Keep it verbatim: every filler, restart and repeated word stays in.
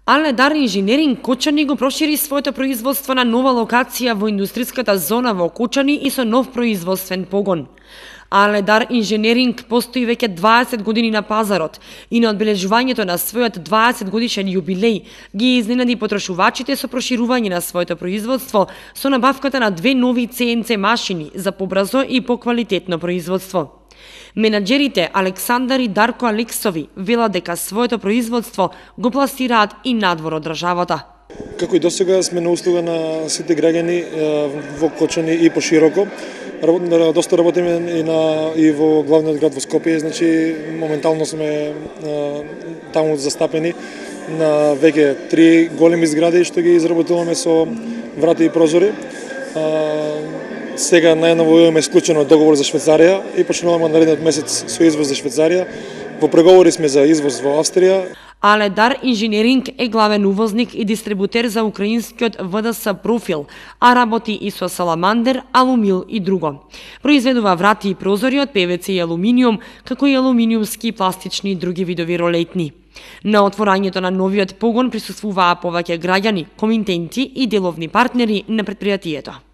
Аледар инженеринг Кочани го прошири своето производство на нова локација во индустриската зона во Кочани и со нов производствен погон. Аледар инженеринг постои веќе дваесет години на пазарот и на одбележувањето на својот дваесет годишен јубилеј ги изненади потрошувачите со проширување на своето производство со набавката на две нови Це Ен Це машини за побрзо и поквалитетно производство. Менаџерите Александар и Дарко Алексови велат дека своето производство го пласираат и надвор од државата. Како и досега сме на услуга на сите граѓани во Кочани и пошироко. Доста работиме и на и во главниот град во Скопје, значи моментално сме таму застапени на веќе три големи згради што ги изработуваме со врати и прозори. Сега најново имаме склучено договор за Швајцарија и почнуваме наредниот месец со извоз за Швајцарија. Во преговори сме за извоз во Австрија. Аледар инженеринг е главен увозник и дистрибутер за украинскиот В Д С Профил, а работи и со Саламандер, Алумил и друго. Произведува врати и прозори од Пе В Це и алуминиум, како и алуминиумски, пластични и други видови ролетни. На отворањето на новиот погон присуствуваа повеќе граѓани, комитенти и деловни партнери на претпријатието.